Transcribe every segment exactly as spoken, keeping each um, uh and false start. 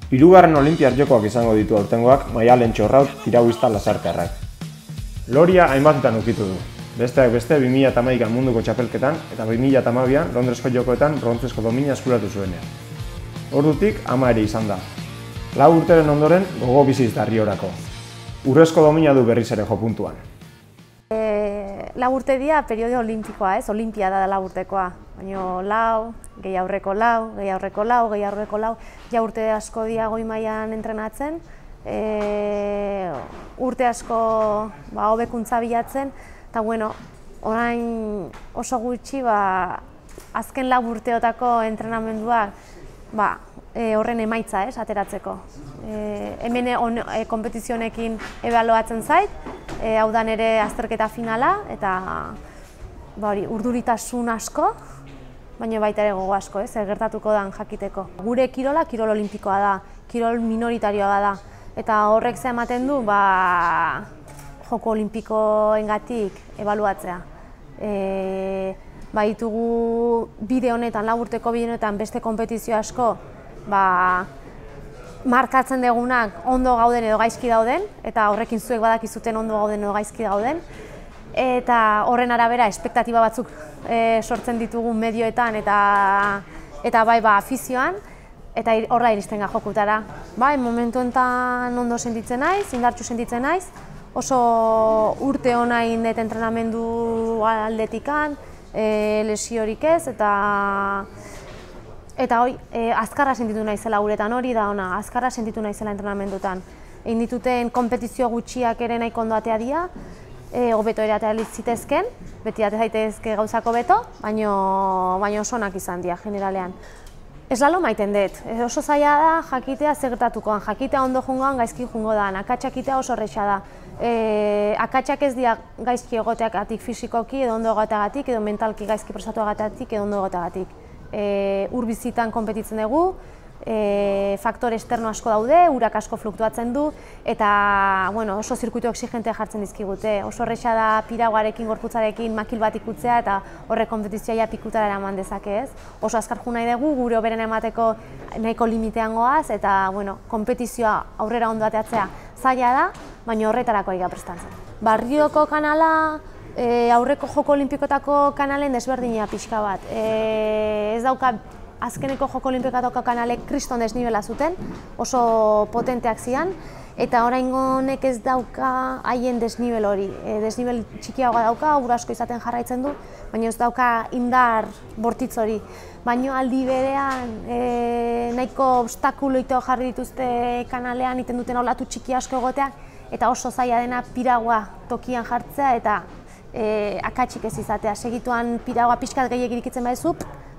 Hirugarren Olinpiar Jokoak izango ditu aurtengoak Maialen Txorraut tirabuista lasarterrak. Loria hainbatetan ukitu du. Besteak beste bi mila hamaikan munduko txapelketan eta bi mila hamabian Londresko Jokoetan brontzesko domina eskuratu zuenean. Ordutik ama ere izan da. Lau urteren ondoren gogo biziz Darriorako. Urrezko domina du berriz ere jo puntuan. E, lau urte dira periodio olimpikoa, ez? Olimpiada da lau urtekoa. Baina lau, gehi aurreko lau, gehi aurreko lau, gehi aurreko lau, ja urte asko dira goi mailan entrenatzen, e, urte asko ba, hobekuntza bilatzen, eta bueno, orain oso gutxi ba, azken lau urteotako entrenamenduak ba, e, horren emaitza, ez, ateratzeko. E, hemen on, e, kompetizionekin ebaluatzen zait, e, hau da nire azterketa finala, eta ba, hori, urduritasun asko, baina baita ere gogo asko, ez, gertatuko dan jakiteko. Gure kirola, kirol olimpikoa da, kirol minoritarioa da, eta horrek ze ematen du, ba, joko olimpikoengatik ebaluatzea. E, ba, ditugu bide honetan, lau urteko bide honetan beste konpetizio asko, ba, markatzen degunak ondo gauden edo gaizki dauden, eta horrekin zuek badakizuten ondo gauden edo gaizki dauden, eta horren arabera espektatiba batzuk e, sortzen ditugu medioetan eta eta bai ba afizioan, eta horra iristen ga jokutara. Bai, momentu honetan ondo sentitzen naiz, indartsu sentitzen naiz, oso urte ona egin dut entrenamendu aldetikan, e, lesiorik ez, eta eta hoi, e, azkarra sentitu naizela uretan, hori da ona, azkarra sentitu naizela entrenamendutan. Egin dituten konpetizio gutxiak ere nahiko ondo atea dira, E, hobeto ere atea zitezken, beti atea daitezke gauzako beto, baina baino oso onak izan dira, generalean. Eslalo maiten dut, e, oso zaila da jakitea zer gertatukoan, jakitea ondo jungoan gaizki jungo da, akatsakitea oso horretxa da. E, akatsak ez dira gaizki egoteagatik fisikoki edo ondo egoteagatik, edo mentalki gaizki prestatuagatik edo ondo egoteagatik. E, ur bizitan konpetitzen dugu, E, faktore esterno asko daude, urak asko fluktuatzen du, eta bueno, oso zirkuitu exigentea jartzen dizkigute. Oso horretxa da piraguarekin, gorputzarekin makil bat ikutzea eta horrek konpetizioa pikutara eraman dezake, ez. Oso azkar ju nahi dugu, gure hoberen emateko nahiko limitean goaz, eta bueno, konpetizioa aurrera ondo ateatzea zaila da, baina horretarako egia prestatzen. Barrioko kanala, e, aurreko joko olimpikotako kanalen desberdina pixka bat. E, ez dauka azkeneko joko olimpikotako kanalek kriston desnibela zuten, oso potenteak zian, eta oraingo honek ez dauka haien desnibel hori. E, desnibel txikiagoa dauka, ur asko izaten jarraitzen du, baina ez dauka indar bortitz hori. Baina aldi berean e, nahiko obstakuloito jarri dituzte kanalean, iten duten olatu txiki asko egoteak, eta oso zaila dena piragua tokian jartzea eta e, akatsik ez izatea. Segituan piragua pixkat gehiagik irikitzen baizu,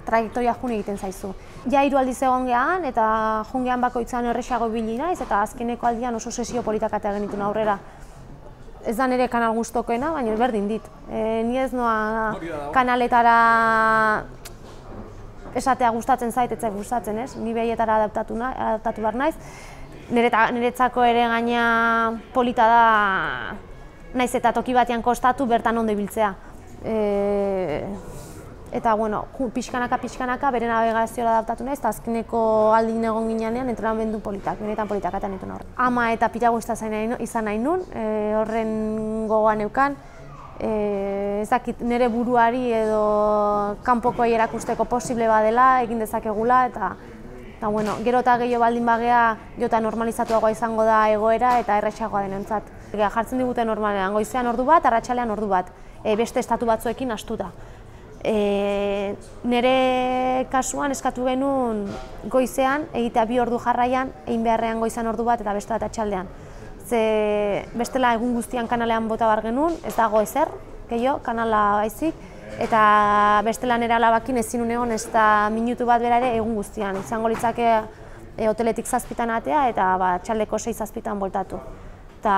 trajektoria jun egiten zaizu. Ja hiru aldiz egon gehan eta jun gehan bakoitzan erresago ibili naiz eta azkeneko aldian oso sesio politak atea genituen aurrera. Ez da nire kanal gustokoena, baina berdin dit. E, ni ez noa kanaletara esatea gustatzen zait, ez zait gustatzen, ez? Ni behietara adaptatu, na, adaptatu behar naiz. Niretzako ere gaina polita da naiz eta toki batean kostatu bertan ondo ibiltzea. E, Eta, bueno, pixkanaka, pixkanaka, bere navegazioa adaptatu nahiz, eta azkeneko aldin egon ginean entrenamendu politak, benetan politak eta nituen horren. Ama eta piraguista izan nahi nun, e, horren gogoan neukan, e, ez dakit nire buruari edo kanpokoei erakusteko posible badela, egin dezakegula, eta, eta bueno, gero eta gehiago baldin bagea, jota normalizatuagoa izango da egoera eta erretxagoa denentzat. Jartzen digute normalean, goizean ordu bat, arratsalean ordu bat, e, beste estatu batzuekin astuta. E, nire kasuan eskatu genuen goizean, egitea bi ordu jarraian, egin beharrean goizan ordu bat eta beste bat atxaldean. Ze bestela egun guztian kanalean bota bar genuen, ez dago ezer, gehiago, kanala baizik, eta bestela nire alabakin ezin egon ez da minutu bat bera ere egun guztian. Izango litzake e, hoteletik zazpitan atea eta ba, txaldeko sei zazpitan boltatu. Eta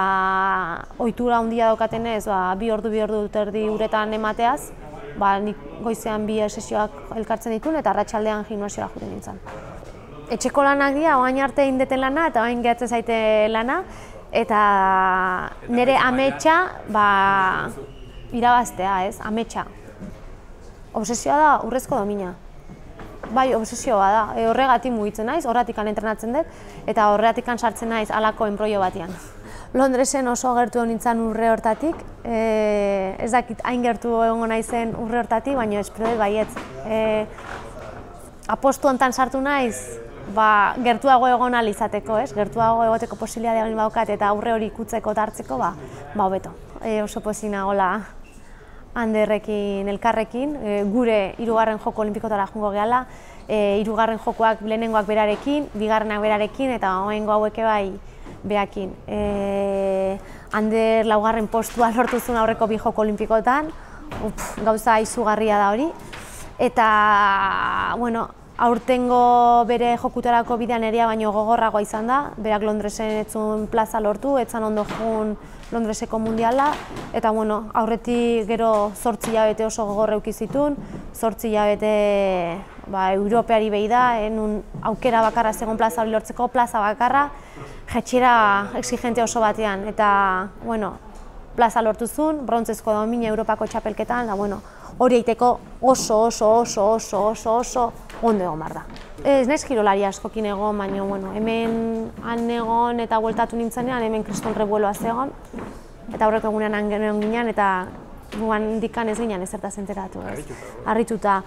ohitura handia daukatenez, ba, bi ordu, bi ordu dut erdi uretan emateaz, ba, nik goizean bi sesioak elkartzen ditun eta arratsaldean gimnasiora joaten nintzen. Etxeko lanak dira, oain arte indeten lana eta oain gehatzen zaite lana, eta nire ametsa ba, irabaztea, ez, ametsa. Obsesioa da urrezko domina. bai, obsesioa da. E, horregatik mugitzen naiz, horregatik entrenatzen dut, eta horregatik sartzen naiz halako enproio batean. Londresen oso gertu nintzen urre hortatik, e, ez dakit hain gertu egongo naizen urre hortatik, baina espero dut baietz. E, apostu hontan sartu naiz, ba, gertuago egon ahal izateko, ez? Gertuago egoteko posibilitatea egin badaukat eta aurre hori ikutzeko eta hartzeko, ba, ba hobeto. E, oso pozik nagoela Anderrekin, elkarrekin, e, gure hirugarren joko olimpikotara joango gehala, e, hirugarren jokoak lehenengoak berarekin, bigarrenak berarekin eta oraingo hauek bai beakin. E, Ander laugarren postua lortu zuen aurreko bi joko olimpikotan, Uf, gauza izugarria da hori. Eta, bueno, aurtengo bere jokutarako bidean eria baino gogorragoa izan da, berak Londresen etzun plaza lortu, etzan ondo joan Londreseko mundiala, eta bueno, aurretik gero zortzi hilabete oso gogorra eduki zituen, zortzi hilabete ba, Europeari behi da, enun aukera bakarra zegoen plaza hori lortzeko, plaza bakarra, jetxera exigente oso batean, eta bueno, plaza lortu zuen, brontzezko domina Europako txapelketan, da bueno, hori eiteko oso, oso, oso, oso, oso, oso ondo egon behar da. Ez naiz kirolari askokin egon, baina bueno, hemen han egon eta bueltatu nintzenean, hemen kriston rebueloa zegoen, eta aurreko egunean han egon ginen, eta guan dikan ez ginen ezertaz enteratu. Harrituta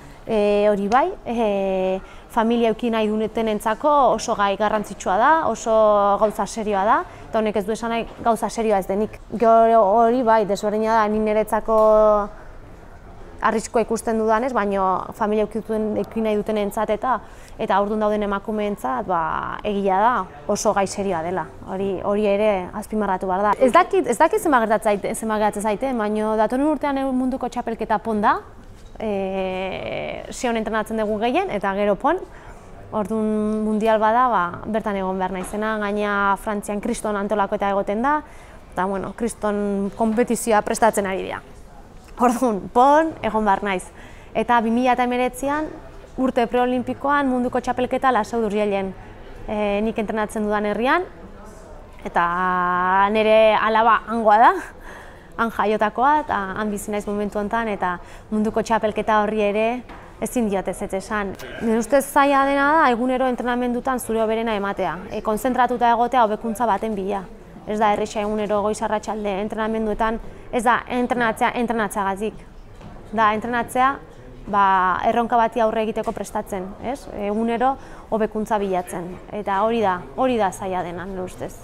hori bai, e, familia euki nahi dutenentzako oso gai garrantzitsua da, oso gauza serioa da, eta honek ez du esan nahi gauza serioa ez denik. Hori bai, desberdina da, ni niretzako arriskoa ikusten dudanez, baina familia euki nahi duten entzat eta eta aurdun dauden emakumeentzat ba, egia da oso gai serioa dela. Hori, hori ere azpimarratu behar da. Ez dakit, ez dakit zenbat gertatzen zaite, baina datorren urtean munduko txapelketa pon da, e, Sion entrenatzen dugu gehien eta gero pon. Orduan mundial bada, ba, bertan egon behar naizena, gaina Frantzian kriston antolako eta egoten da, eta bueno, kriston konpetizioa prestatzen ari dira. Orduan, pon, egon behar naiz. Eta bi mila hemeretzian urte preolimpikoan munduko txapelketa Lasau d'Urgellen e, nik entrenatzen dudan herrian, eta nire alaba hangoa da, han jaiotakoa, eta han bizi naiz momentu honetan, eta munduko txapelketa horri ere ezin diot ez esan. Nire ustez zaila dena da, egunero entrenamendutan zure hoberena ematea, e, konzentratuta egotea hobekuntza baten bila. Ez da erresa egunero goiz arratsalde entrenamenduetan, ez da entrenatzea entrenatzeagatik. Da entrenatzea ba, erronka bati aurre egiteko prestatzen, ez? Egunero hobekuntza bilatzen. Eta hori da, hori da zaila dena, nire ustez.